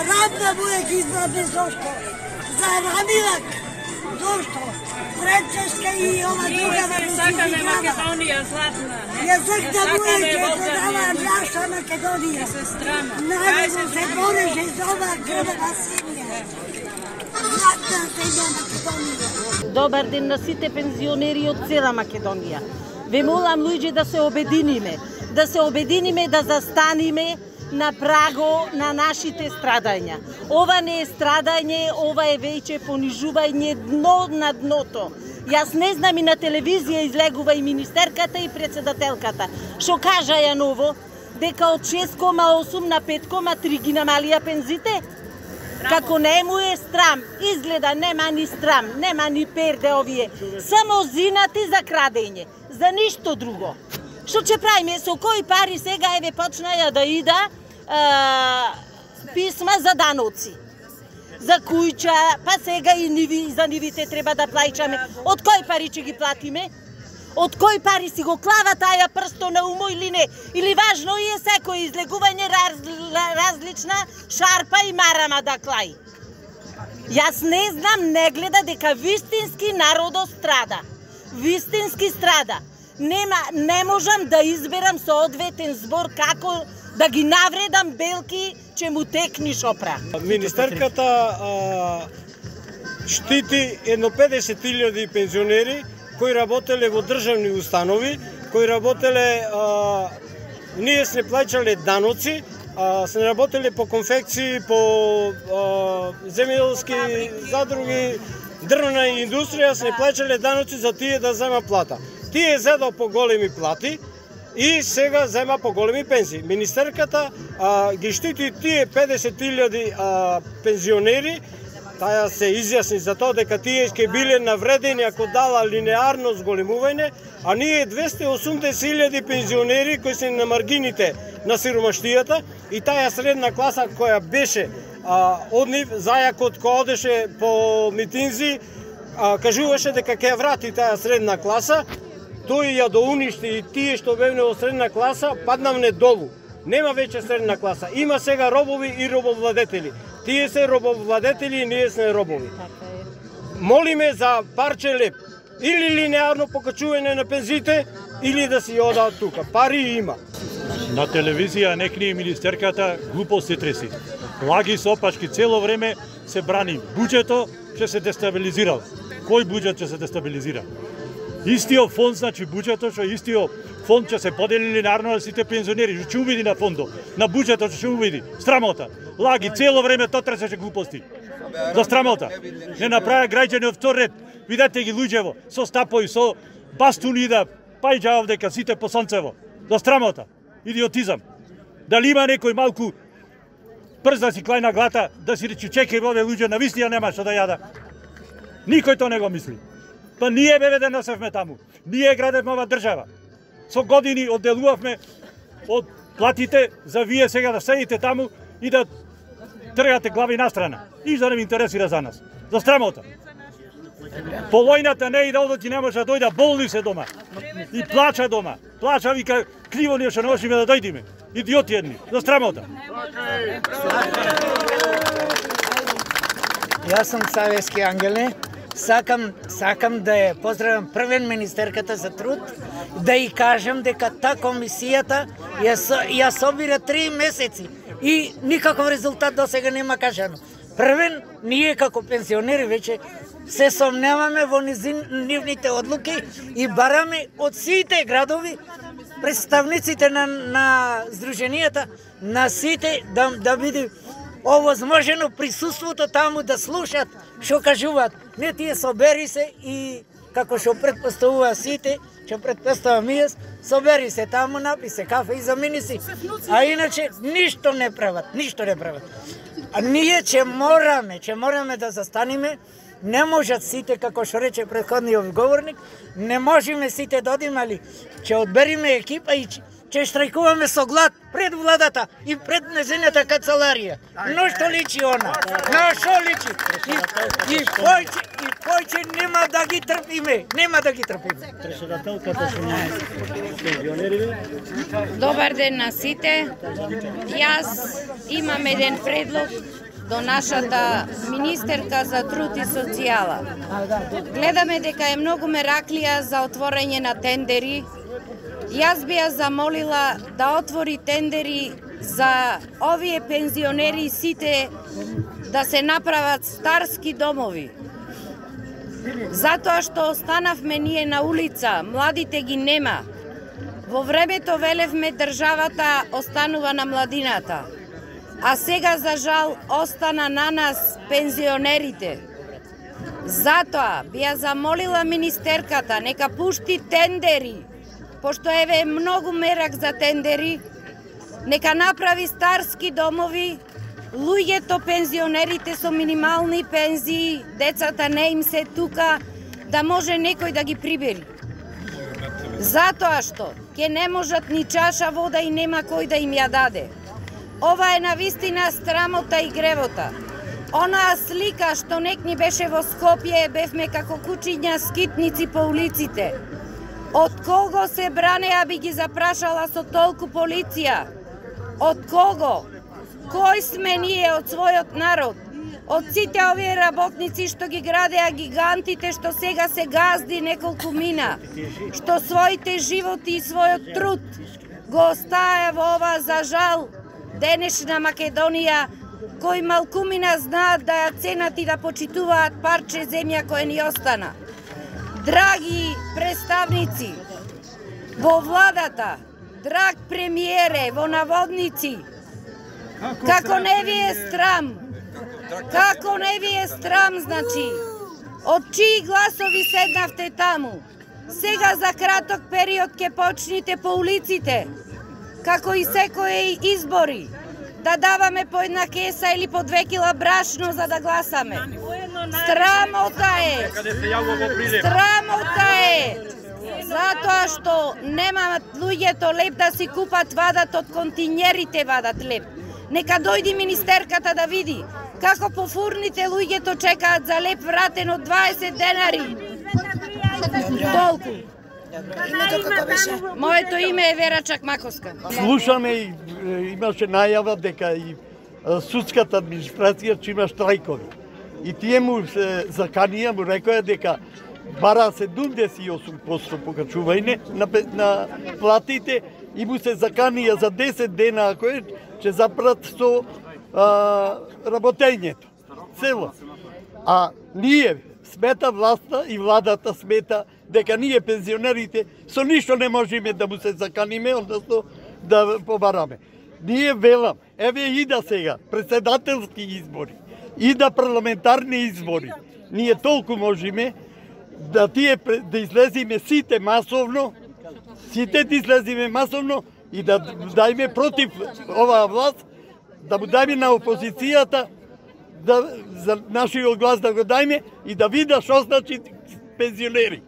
Радна Буек избране зошто? За Рамилак. Зошто? Францеска и ова друга Сакаме Македонија златна. Ја сакам Буек ќе дава наша Македонија. Народот се бореше за ова грбава земја. Златна земја Македонија. Добар ден на сите пензионери од цела Македонија. Ве молам луѓе да се обединиме, да застаниме на праго на нашите страдања. Ова не е страдање, ова е веќе понижување дно на дното. Јас не знам, и на телевизија излегува и министерката и председателката. Што кажа ја ново? Дека од 6,8 на 5,3 ги намалија пензите? Како не му е страм, изгледа нема ни страм, нема ни перде овие. Само зинати за крадење, за ништо друго. Што ќе правиме, со кои пари сега еве почнаја да ида писма за даноци, за куќа, па сега и за нивите треба да плаќаме. Од кои пари ќе ги платиме? Од кои пари си го клава таја прсто на умо или не? Или важно е секој излегување различна шарпа и марама да клаи? Јас не знам, не гледа дека вистински народот страда. Вистински страда. Не можам да изберам соодветен збор како да ги навредам белки, че му текни шопра. Министерката штити едно 50.000 пензионери кои работеле во државни установи, кои работеле, ние сме плаќале даноци, сме работеле по конфекции, по земјоделски задруги, дрвна индустрија, сме плаќале даноци за тие да зема плата. Тие зедо по големи плати и сега зема по големи пензии. Министерката ги штити тие 50.000 пензионери. Таја се изјасни за тоа дека тие ќе биле навредени ако дала линеарно зголемување, а ние 280.000 пензионери кои се на маргините на сиромаштијата и таа средна класа која беше од нив, зајакот кој одеше по митинзи, кажуваше дека ќе врати таа средна класа, тој ја доуништи и тие што бевне во средна класа паднавне долу. Нема веќе средна класа, има сега робови и робовладетели. Тие се робовладетели и ние сме робови. Молиме за парче леп. Или линеарно покачување на пензите, или да си одаат тука. Пари има. На телевизија некни министерката глупости треси. Лаги со опашки цело време се брани. Буџето ќе се дестабилизира. Кој буџет ќе се дестабилизира? Истиот фонд, значи буџето, што истиот фонд ќе се подели линеарно на сите пензионери. Што ќе увиди на фондо? На буџетот ќе увиди. Страмота. Лаги цело време тоа тресеше глупости. За страмота. Не направи граѓани од втор ред. Видете ги луѓево со стапои, со бастуни да пајџа овдека сите по сонцево. За страмота. Идиотизам. Дали има некој малку прз да си клајна глата, да си речи чекај овие луѓе на вистина нема што да јада. Никој тоа не го мисли. Па ние беве да носевме таму. Ние градевме ова држава. Со години одделувавме од платите за вие сега да седите таму и да тргате глави настрана. Ништо не ми интересира за нас. За страмота. По војната не и да одоти не може да дојда, болни се дома. И плача дома. Плача, вика, криво ние што не можеме да дојдеме. Идиоти едни. За страмота. Јас сум Савески Ангеле. Сакам да ја поздравам првен министерката за труд, да ја кажам дека та комисијата ја собира 3 месеци и никаков резултат до сега нема кажано. Првен, ние како пенсионери веќе се сомневаме во нивните одлуки и бараме од сите градови представниците на здруженијата, на сите да биде овозможено присуството таму да слушат што кажуваат. Не тие собери се и како што предпоставува сите, што предпоставам и јас, собери се таму, напи се кафе и замини си. А иначе ништо не прават, ништо не прават. А ние ќе мораме да застаниме. Не можат сите, како што рече претходниот говорник, не можеме сите да одиме, али ќе одбериме екипа и ќе штрајкуваме со глад пред владата и пред незината канцеларија. Но што личи она? Но што личи? И кој нема да ги трпиме? Нема да ги трпиме. Добар ден на сите. Јас имам еден предлог до нашата министерка за труд и социјала. Гледаме дека е многу мераклија за отворање на тендери. Јас би ја замолила да отвори тендери за овие пензионери сите да се направат старски домови. Затоа што останавме ние на улица, младите ги нема. Во времето велевме државата останува на младината, а сега за жал остана на нас пензионерите. Затоа би ја замолила министерката нека пушти тендери, пошто еве е многу мерак за тендери, нека направи старски домови, луѓето, пензионерите со минимални пензии, децата не им се тука, да може некој да ги прибери. Затоа што ќе не можат ни чаша вода и нема кој да им ја даде. Ова е навистина срамота и гревота. Онаа слика што нек ни беше во Скопје, бевме како кучиња скитници по улиците. Од кого се бранеа, би ги запрашала со толку полиција? Од кого? Кој сме ние од својот народ? Од сите овие работници што ги градеа гигантите, што сега се газди неколку мина, што своите животи и својот труд го остаја во ова, за жал, денешна Македонија, кои малкумина знаат да ја ценат и да почитуваат парче земја која ни остана. Драги представници во владата, драг премиере, во наводници, како не ви е срам? Како не ви е срам, значи? Од чии гласови седнавте таму? Сега за краток период ќе почните по улиците, како и секои избори, да даваме по една кеса или по 2 кила брашно за да гласаме. Срамота е! Срамота е! Затоа што немаат луѓето леп да си купат, вадат од континерите, вадат леп. Нека дојди министерката да види како по фурните луѓето чекаат за леп вратен од 20 денари. Толку. Името како беше? Моето име е Вера Чакмаковска. Слушаме и имаше најава дека и судската администрација че има штрајкови. И тие му се заканија, му рекоја дека бара 78% покачување на платите и му се заканија за 10 дена, ако е, че запрат со работењето. Цело. А ние смета власта и владата смета дека ние пензионерите со ништо не можеме да му се заканиме, односно да побараме. Ние велам, еве и да сега, председателски избори, и да парламентарни избори, ние толку можеме да да излезиме сите масовно, и да дајме против оваа власт, да му дајме на опозицијата, за нашиот глас да го дајме и да видат што значи пензионери.